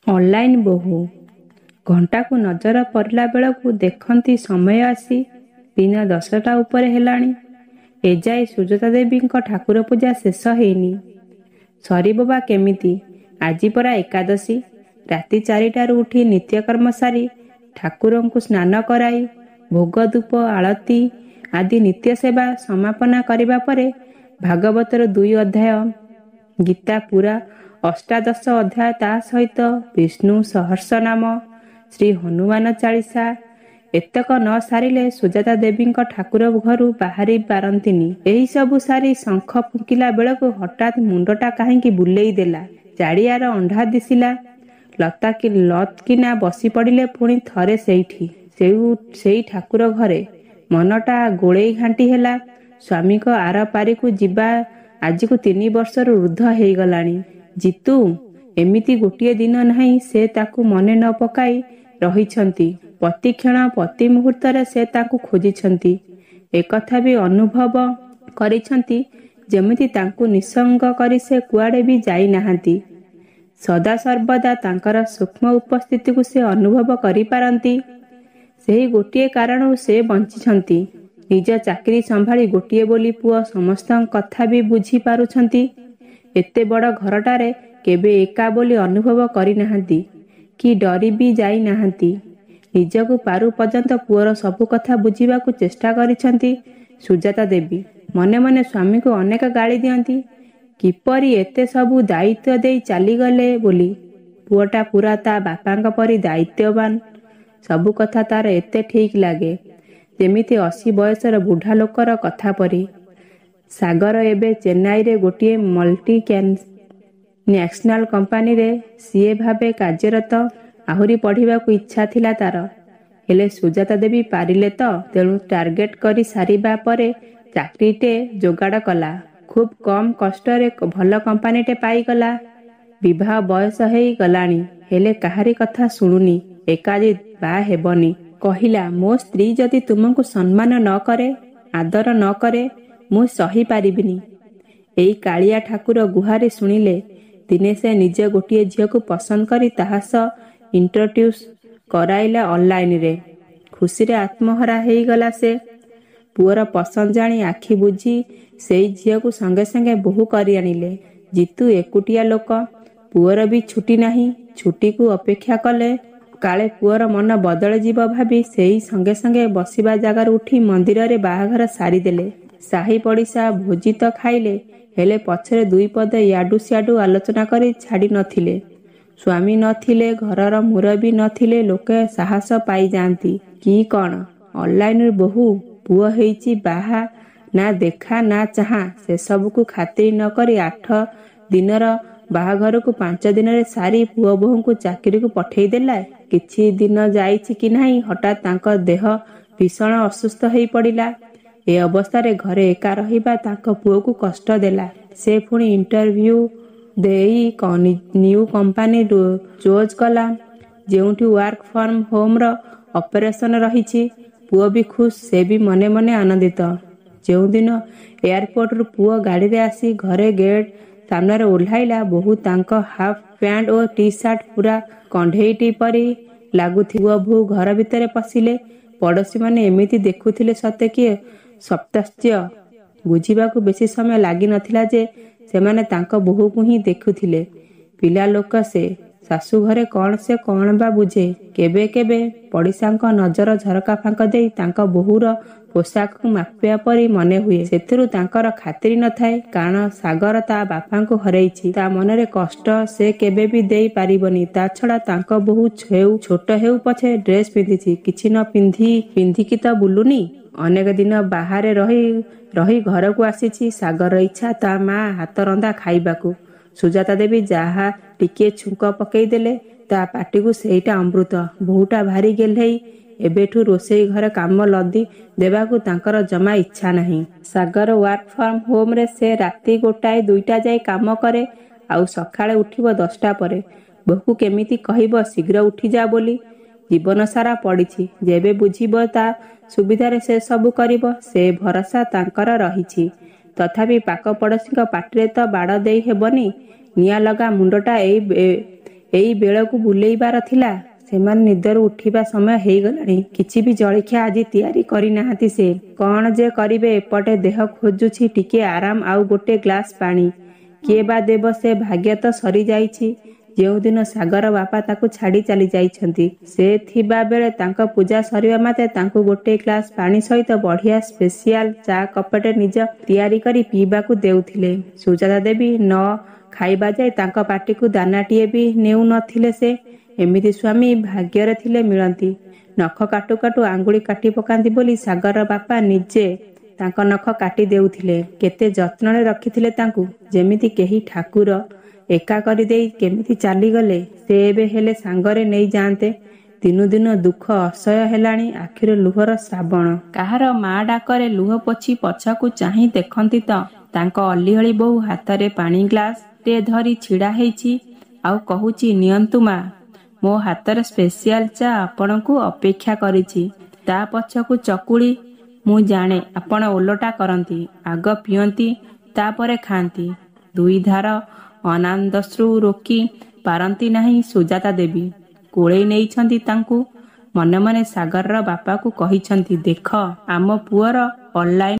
Online ବୋହୂ। ଘଣ୍ଟାକୁ ନଜର ପଡ଼ିଲା ବେଳକୁ ଦେଖନ୍ତି ସମୟ ଆସି ଦିନ 10ଟା ଉପରେ ହେଲାଣି। ଏଯାଏ ସୁଜାତା ଦେବୀଙ୍କ ଠାକୁର ପୂଜା ଶେଷ ହେଇନି। ସରିବ ବା କେମିତି? ଆଜି ପରା ଏକାଦଶୀ। ରାତି 4ଟାରୁ ଉଠି ନିତ୍ୟକର୍ମ ସାରି ଠାକୁରଙ୍କୁ ସ୍ନାନ କରାଇ ଭୋଗ, ଧୂପ, ଆଳତି ଆଦି ନିତ୍ୟ ସେବା ସମାପନା କରିବା ପରେ ଭାଗବତର 2 ଅଧ୍ୟାୟ, ଗୀତା ପୁରା 18 ଅଧ୍ୟାୟ, ତା ସହିତ ବିଷ୍ଣୁ ସହସ୍ରନାମ, ଶ୍ରୀ ହନୁମାନ ଚାଳିଶା ଏତକ ନ ସାରିଲେ ସୁଜାତା ଦେବୀଙ୍କ ଠାକୁର ଘରୁ ବାହାରି ପାରନ୍ତିନି। ଏହିସବୁ ସାରି ଶଙ୍ଖ ଫୁଙ୍କିଲା ବେଳକୁ ହଠାତ୍ ମୁଣ୍ଡଟା କାହିଁକି ବୁଲେଇ ଦେଲା। ଚାରିଆଡ଼ ଅନ୍ଧାର ଦିଶିଲା। ଲତକିନା ବସି ପଡ଼ିଲେ ପୁଣି ଥରେ ସେଇଠି, ସେଇ ଠାକୁର ଘରେ। ମନଟା ଗୋଳେଇ ଘାଣ୍ଟି ହେଲା। ସ୍ୱାମୀଙ୍କ ଆର ପାରିକୁ ଯିବା ଆଜିକୁ 3 ବର୍ଷରୁ ଊର୍ଦ୍ଧ୍ୱ ହେଇଗଲାଣି। ଜିତୁ, ଏମିତି ଗୋଟିଏ ଦିନ ନାହିଁ ସେ ତାକୁ ମନେ ନ ପକାଇ ରହିଛନ୍ତି। ପ୍ରତିକ୍ଷଣ ପ୍ରତି ମୁହୂର୍ତ୍ତରେ ସେ ତାଙ୍କୁ ଖୋଜିଛନ୍ତି। ଏକଥା ବି ଅନୁଭବ କରିଛନ୍ତି ଯେମିତି ତାଙ୍କୁ ନିଃସଙ୍ଗ କରି ସେ କୁଆଡ଼େ ବି ଯାଇନାହାନ୍ତି। ସଦାସର୍ବଦା ତାଙ୍କର ସୂକ୍ଷ୍ମ ଉପସ୍ଥିତିକୁ ସେ ଅନୁଭବ କରିପାରନ୍ତି। ସେହି ଗୋଟିଏ କାରଣରୁ ସେ ବଞ୍ଚିଛନ୍ତି। ନିଜ ଚାକିରି ସମ୍ଭାଳି ଗୋଟିଏ ବୋଲି ପୁଅ, ସମସ୍ତଙ୍କ କଥା ବି ବୁଝି ପାରୁଛନ୍ତି। ଏତେ ବଡ଼ ଘରଟାରେ କେବେ ଏକା ବୋଲି ଅନୁଭବ କରିନାହାନ୍ତି କି ଡରି ବି ଯାଇନାହାନ୍ତି। ନିଜକୁ ପାରୁ ପର୍ଯ୍ୟନ୍ତ ପୁଅର ସବୁ କଥା ବୁଝିବାକୁ ଚେଷ୍ଟା କରିଛନ୍ତି ସୁଜାତା ଦେବୀ। ମନେ ମନେ ସ୍ୱାମୀଙ୍କୁ ଅନେକ ଗାଳି ଦିଅନ୍ତି, କିପରି ଏତେ ସବୁ ଦାୟିତ୍ୱ ଦେଇ ଚାଲିଗଲେ ବୋଲି। ପୁଅଟା ପୁରା ତା ବାପାଙ୍କ ପରି ଦାୟିତ୍ୱବାନ। ସବୁ କଥା ତାର ଏତେ ଠିକ୍ ଲାଗେ, ଯେମିତି 80 ବୟସର ବୁଢ଼ା ଲୋକର କଥା ପରି। ସାଗର ଏବେ ଚେନ୍ନାଇରେ ଗୋଟିଏ ମଲ୍ଟି ନ୍ୟାସନାଲ କମ୍ପାନୀରେ ସିଏ ଭାବେ କାର୍ଯ୍ୟରତ। ଆହୁରି ପଢ଼ିବାକୁ ଇଚ୍ଛା ଥିଲା ତାର, ହେଲେ ସୁଜାତା ଦେବୀ ପାରିଲେ ତ? ତେଣୁ ଟାର୍ଗେଟ କରି ସାରିବା ପରେ ଚାକିରିଟେ ଯୋଗାଡ଼ କଲା। ଖୁବ୍ କମ୍ କଷ୍ଟରେ ଭଲ କମ୍ପାନୀଟେ ପାଇଗଲା। ବିବାହ ବୟସ ହେଇ ଗଲାଣି, ହେଲେ କାହାରି କଥା ଶୁଣୁନି। ଏକାଜିଦ୍, ବାହା ହେବନି। କହିଲା, ମୋ ସ୍ତ୍ରୀ ଯଦି ତୁମକୁ ସମ୍ମାନ ନ କରେ, ଆଦର ନ କରେ, ମୁଁ ସହି ପାରିବିନି। ଏଇ କାଳିଆ ଠାକୁର ଗୁହାରି ଶୁଣିଲେ। ଦିନେ ସେ ନିଜେ ଗୋଟିଏ ଝିଅକୁ ପସନ୍ଦ କରି ତାହା ସହ ଇଣ୍ଟ୍ରୋଡ୍ୟୁସ୍ କରାଇଲା ଅନଲାଇନରେ। ଖୁସିରେ ଆତ୍ମହରା ହେଇଗଲା ସେ। ପୁଅର ପସନ୍ଦ ଜାଣି ଆଖି ବୁଜି ସେଇ ଝିଅକୁ ସଙ୍ଗେ ସଙ୍ଗେ ବୋହୂ କରି ଆଣିଲେ। ଜିତୁ ଏକୁଟିଆ ଲୋକ, ପୁଅର ବି ଛୁଟି ନାହିଁ। ଛୁଟିକୁ ଅପେକ୍ଷା କଲେ କାଳେ ପୁଅର ମନ ବଦଳିଯିବ ଭାବି ସେଇ ସଙ୍ଗେ ସଙ୍ଗେ ବସିବା ଜାଗାରୁ ଉଠି ମନ୍ଦିରରେ ବାହାଘର ସାରିଦେଲେ। ସାହି ପଡ଼ିଶା ଭୋଜି ତ ଖାଇଲେ, ହେଲେ ପଛରେ ଦୁଇ ପଦ ୟାଡୁ ସିଆଡୁ ଆଲୋଚନା କରି ଛାଡ଼ି ନଥିଲେ। ସ୍ୱାମୀ ନଥିଲେ, ଘରର ମୁରବୀ ନଥିଲେ ଲୋକେ ସାହସ ପାଇଯାଆନ୍ତି କି କଣ? ଅନଲାଇନରେ ବୋହୂ, ପୁଅ ହେଇଛି, ବାହା ନା ଦେଖା ନା ଚାହାଁ ସେସବୁକୁ ଖାତିର ନ କରି 8 ଦିନର ବାହାଘରକୁ 5 ଦିନରେ ସାରି ପୁଅ ବୋହୂଙ୍କୁ ଚାକିରିକୁ ପଠେଇଦେଲା। କିଛି ଦିନ ଯାଇଛି କି ନାହିଁ, ହଠାତ୍ ତାଙ୍କ ଦେହ ଭୀଷଣ ଅସୁସ୍ଥ ହେଇ ପଡ଼ିଲା। ଏ ଅବସ୍ଥାରେ ଘରେ ଏକା ରହିବା ତାଙ୍କ ପୁଅକୁ କଷ୍ଟ ଦେଲା। ସେ ପୁଣି ଇଣ୍ଟରଭ୍ୟୁ ଦେଇ ନ୍ୟୁ କମ୍ପାନୀ ଚୋଜ୍ କଲା, ଯେଉଁଠି ୱାର୍କ ଫ୍ରମ୍ ହୋମ୍ର ଅପରେସନ ରହିଛି। ପୁଅ ବି ଖୁସ୍, ସେ ବି ମନେ ମନେ ଆନନ୍ଦିତ। ଯେଉଁଦିନ ଏୟାରପୋର୍ଟରୁ ପୁଅ ଗାଡ଼ିରେ ଆସି ଘରେ ଗେଟ୍ ସାମ୍ନାରେ ଓହ୍ଲାଇଲା, ବୋହୂ ତାଙ୍କ ହାଫ୍ ପ୍ୟାଣ୍ଟ ଓ ଟି ସାର୍ଟ ପୁରା କଣ୍ଢେଇଟି ପରି ଲାଗୁଥିବ। ବୋହୂ ଘର ଭିତରେ ପଶିଲେ। ପଡ଼ୋଶୀମାନେ ଏମିତି ଦେଖୁଥିଲେ ସତେ କି ସପ୍ତାଶ୍ଚର୍ଯ୍ୟ। ବୁଝିବାକୁ ବେଶୀ ସମୟ ଲାଗିନଥିଲା ଯେ ସେମାନେ ତାଙ୍କ ବୋହୂକୁ ହିଁ ଦେଖୁଥିଲେ। ପିଲା ଲୋକ ସେ, ଶାଶୁଘରେ କଣ ସେ କଣ ବା ବୁଝେ? କେବେ କେବେ ପଡ଼ିଶାଙ୍କ ନଜର ଝରକା ଫାଙ୍କ ଦେଇ ତାଙ୍କ ବୋହୂର ପୋଷାକକୁ ମାପିବା ପରି ମନେ ହୁଏ। ସେଥିରୁ ତାଙ୍କର ଖାତିର ନଥାଏ, କାରଣ ସାଗର ତା ବାପାଙ୍କୁ ହରେଇଛି। ତା ମନରେ କଷ୍ଟ ସେ କେବେ ବି ଦେଇ ପାରିବନି। ତା ଛଡ଼ା ତାଙ୍କ ବୋହୂ ହେଉ ଛୋଟ ହେଉ ପଛେ ଡ୍ରେସ୍ ପିନ୍ଧିଛି, କିଛି ନ ପିନ୍ଧି ପିନ୍ଧିକି ତ ବୁଲୁନି। ଅନେକ ଦିନ ବାହାରେ ରହି ରହି ଘରକୁ ଆସିଛି। ସାଗରର ଇଚ୍ଛା ତା ମା ହାତ ରନ୍ଧା ଖାଇବାକୁ। ସୁଜାତା ଦେବୀ ଯାହା ଟିକିଏ ଛୁଙ୍କ ପକେଇଦେଲେ ତା ପାଟିକୁ ସେଇଟା ଅମୃତ। ବୋହୂଟା ଭାରି ଗେହ୍ଲେଇ। ଏବେଠୁ ରୋଷେଇ ଘରେ କାମ ଲଦି ଦେବାକୁ ତାଙ୍କର ଜମା ଇଚ୍ଛା ନାହିଁ। ସାଗର ୱାର୍କ ଫ୍ରମ୍ ହୋମ୍ରେ ସେ ରାତି 1 2ଟା ଯାଏ କାମ କରେ, ଆଉ ସକାଳେ ଉଠିବ 10ଟା ପରେ। ବୋହୂକୁ କେମିତି କହିବ ଶୀଘ୍ର ଉଠିଯା ବୋଲି? ଜୀବନ ସାରା ପଡ଼ିଛି, ଯେବେ ବୁଝିବ ତା ସୁବିଧାରେ ସେ ସବୁ କରିବ, ସେ ଭରସା ତାଙ୍କର ରହିଛି। ତଥାପି ପାଖ ପଡ଼ୋଶୀଙ୍କ ପାଟିରେ ତ ବାଡ଼ ଦେଇ ହେବନି। ନିଆଁ ଲଗା ମୁଣ୍ଡଟା ଏଇ ଏଇ ବେଳକୁ ବୁଲେଇବାର ଥିଲା? ସେମାନେ ନିଦରୁ ଉଠିବା ସମୟ ହେଇଗଲାଣି। କିଛି ବି ଜଳଖିଆ ଆଜି ତିଆରି କରିନାହାନ୍ତି ସେ। କଣ ଯେ କରିବେ, ଏପଟେ ଦେହ ଖୋଜୁଛି ଟିକିଏ ଆରାମ ଆଉ ଗୋଟେ ଗ୍ଲାସ ପାଣି। କିଏ ବା ଦେବ? ସେ ଭାଗ୍ୟ ତ ସରିଯାଇଛି ଯେଉଁଦିନ ସାଗର ବାପା ତାକୁ ଛାଡ଼ି ଚାଲିଯାଇଛନ୍ତି। ସେ ଥିବା ବେଳେ ତାଙ୍କ ପୂଜା ସରିବା ମାତ୍ରେ ତାଙ୍କୁ ଗୋଟେ ଗ୍ଲାସ ପାଣି ସହିତ ବଢ଼ିଆ ସ୍ପେସିଆଲ ଚା କପଟେ ନିଜ ତିଆରି କରି ପିଇବାକୁ ଦେଉଥିଲେ। ସୁଜାତା ଦେବୀ ନ ଖାଇବା ଯାଏ ତାଙ୍କ ପାଟିକୁ ଦାନାଟିଏ ବି ନେଉ ନଥିଲେ ସେ। ଏମିତି ସ୍ୱାମୀ ଭାଗ୍ୟରେ ଥିଲେ ମିଳନ୍ତି। ନଖ କାଟୁ କାଟୁ ଆଙ୍ଗୁଳି କାଟି ପକାନ୍ତି ବୋଲି ସାଗରର ବାପା ନିଜେ ତାଙ୍କ ନଖ କାଟି ଦେଉଥିଲେ। କେତେ ଯତ୍ନରେ ରଖିଥିଲେ ତାଙ୍କୁ, ଯେମିତି କେହି ଠାକୁର। ଏକା କରିଦେଇ କେମିତି ଚାଲିଗଲେ ସେ? ଏବେ ହେଲେ ସାଙ୍ଗରେ ନେଇଯାଆନ୍ତେ। ଦିନୁ ଦିନ ଦୁଃଖ ଅସହ୍ୟ ହେଲାଣି, ଆଖିରୁ ଲୁହର ଶ୍ରାବଣ। କାହାର ମା ଡାକରେ ଲୁହ ପୋଛି ପଛକୁ ଚାହିଁ ଦେଖନ୍ତି ତ ତାଙ୍କ ଅଲିଅଳି ବୋହୂ ହାତରେ ପାଣି ଗ୍ଲାସ ଟେ ଧରି ଛିଡ଼ା ହେଇଛି ଆଉ କହୁଛି, ନିଅନ୍ତୁ ମା, ମୋ ହାତରେ ସ୍ପେସିଆଲ ଚା ଆପଣଙ୍କୁ ଅପେକ୍ଷା କରିଛି। ତା ପଛକୁ ଚକୁଳି। ମୁଁ ଜାଣେ ଆପଣ ଓଲଟା କରନ୍ତି, ଆଗ ପିଅନ୍ତି ତାପରେ ଖାଆନ୍ତି। ଦୁଇଧାର ଅନାନ୍ଦାଶ୍ରୁ ରୋକି ପାରନ୍ତି ନାହିଁ ସୁଜାତା ଦେବୀ। କୋଳେଇ ନେଇଛନ୍ତି ତାଙ୍କୁ। ମନେ ମନେ ସାଗରର ବାପାକୁ କହିଛନ୍ତି, ଦେଖ, ଆମ ପୁଅର ଅନଲାଇନ